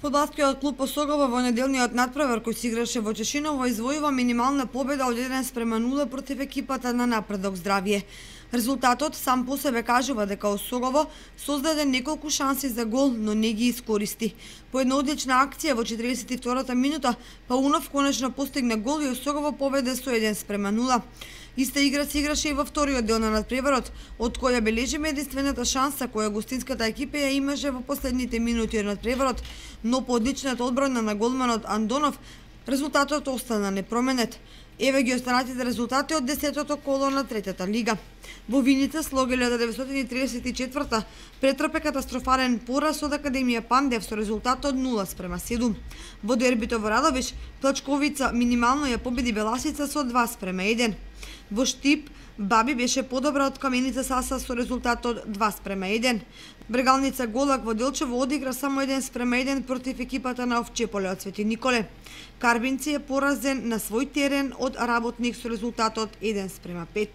Фудбалскиот клуб Осогово во неделниот натпревар кој се играше во Чешиново извојува минимална победа од 1:0 против екипата на Напредок Здравје. Резултатот сам по себе кажува дека Осогово создаде неколку шанси за гол, но не ги искористи. По една одлична акција во 42-та минута Паунов конечно постигна гол и Осогово победе со 1:0. Иста игра се играше и во вториот дел на надпреварот, од која бележиме единствената шанса која гостинската екипа ја имаше во последните минути од надпреварот, но по одличната одбрана на голманот Андонов, резултатот остана непроменет. Еве ги останатите резултати од 10-тото коло на третата лига. Во Виница Слог 1934 претрпе катастрофален пораз од Академија Пандев со резултат од 0:7. Во дербито во Радовиш, Плачковица минимално ја победи Беласица со 2:1. Во Штип, Баби беше подобра од Каменица Саса со резултат од 2:1. Брегалница Голак во Делчево одигра само 1:1 против екипата на Овчеполе од Свети Николе. Карбинци е поразен на свој терен од Работник со резултат од 1:5.